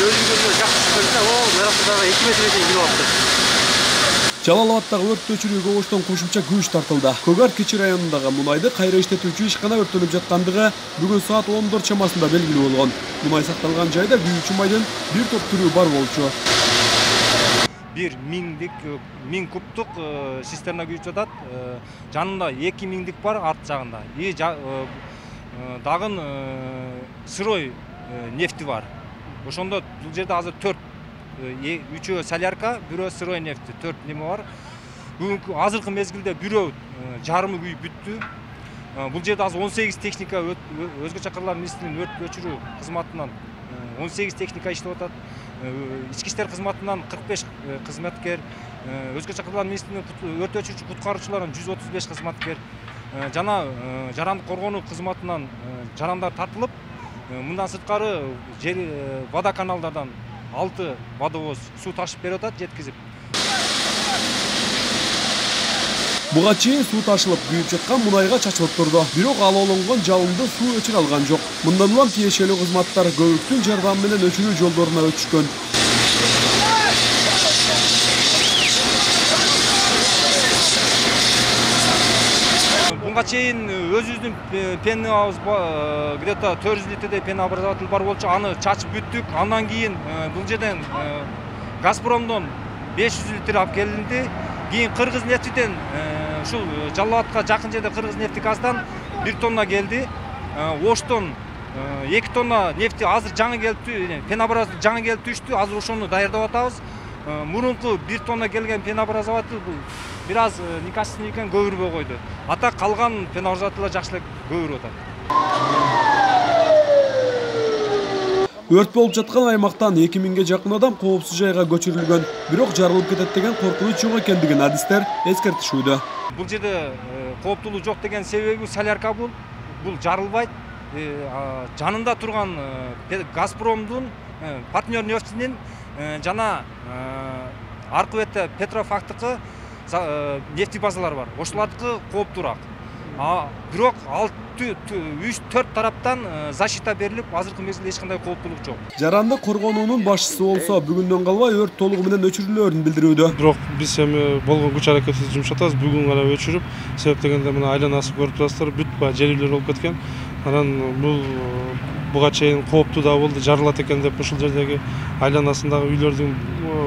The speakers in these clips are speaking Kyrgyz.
өзүңүзгө жакшы көрсө, Мерасадагы 2 метрге чейин кирип алыптыр. Жалал Абадтагы өрт өчүрүүгө оштон кошумча күч тартылды. Көк Кечи районундагы мунайды кайра иштетүүчү ишкана өрттөнүп жаткандыгы бүгүн саат 14 чамасында белгилүү болгон. Мунай сакталган жайда күйүүчү майдын бир топ түрү бар болчу. 1000 кубтук цистерна күйүп жатат. Жанында 2000 бар арт жагында. Дагы сырой нефти бар. Ошондо бул жерде азыр 4 3 солярка, бирөө сырой нефти, 4 неме бар. Бүгүнкү азыркы мезгилде бирөө жарымы күйүп бүттү. Бул жерде азыр 18 техника өзгө чакырлар министринин өрт өчүрүү кызматынан 18 техника иштеп атат. Ички иштер кызматынан 45 кызматкер, өзгө чакырлар министринин өрт өчүрүүчү куткаруучуларынан 135 кызматкер, жана жарандык коргонуу кызматынан жарандар тартылып, мындан сырткары вода каналдардан 6 водовоз суу ташып берип атат, жеткизип. Буга чейин суу ташылып, күйүп жаткан мунайга чачылып турду. Бирок алоолонгон жалынды суу өчүрө алган жок. Мындан улам тиешелүү кызматтар көбүктүн жардамы менен өчүрүү жолдоруна өтүшкөн. Буга чейин өзүбүздүн пенный где-то 400 литрдей пенообразователь бар болчу, аны чачып бүттүк. Андан кийин бул жерден Газпромдон 500 литр алып келинди. Кийин Кыргыз нефтиден ушул Жалал Абадка жакын жерде Кыргыз нефти газдан 1 тонна келди. Оштон 2 тонна нефти азыр жаңы келиптү, пенообразователь жаңы келип түштү. Азыр ошону даярдап атабыз. Мурунку 1 тонна келген пенообразователь бул бир аз некачественный экен, көбүрбөй койду. Ата калган пенообразовательлер жакшылап көбүрүп атат. Өрт болуп жаткан аймактан 2000ге жакын адам коопсуз жайга көчүрүлгөн. Бирок жарылып кетет деген коркунуч жок экендигин адистер эскертишүүдө. Бул жерде кооптуулук жок деген себеби солярка бул жарылбайт. Жанында турган Газпромдун партнер нефтинин жана аркы бетте Петрофактыкы нефти базалары бар. Ошолардыкы кооптуураак. Бирок 3-4 тараптан защита берилип, азыркы мезгилде эч кандай кооптуулук жок. Жарандык коргонуунун башчысы болсо бүгүндөн калбай өрт толугу менен өчүрүлөөрүн билдирүүдө. Бирок биз эми болгон күч аракетти жумшатабыз. Бүгүн гана өчүрүп, себеп дегенде мына айланасы көрүп турасыздар, бүт баягы жерүүлөр болуп кеткен. Анан буга чейин кооптуу да болду, жарылат экен деп ушул жердеги айланасындагы үйлөрдүн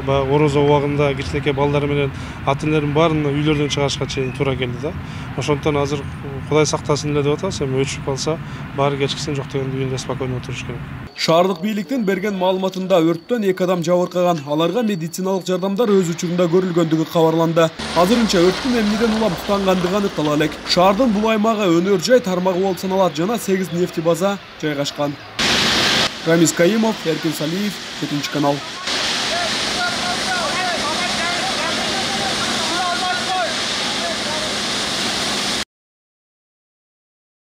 баягы орозо убагында кичинекей балдар менен ата энелердин баарын үйлөрдөн чыгарышка чейин туура келди да. Ошондон азыр Кудай сактасын эле деп атабыз. Эми өчүрүп калса, баары кечкисин жок дегенде үйүндө спокойно отуруш керек. Шаардык бийликтин берген маалыматында өрттөн 2 адам жабыркаган, аларга медициналык жардамдар өз учурунда көрүлгөндүгү кабарланды. Азырынча өрттүн эмнеден улам тутангандыгы аныктала элек. Шаардын бул аймагы өнөр жай тармагы болуп саналат жана 8 нефти база жайгашкан. Рамис Каимов, Эркин Салиев, 7 канал.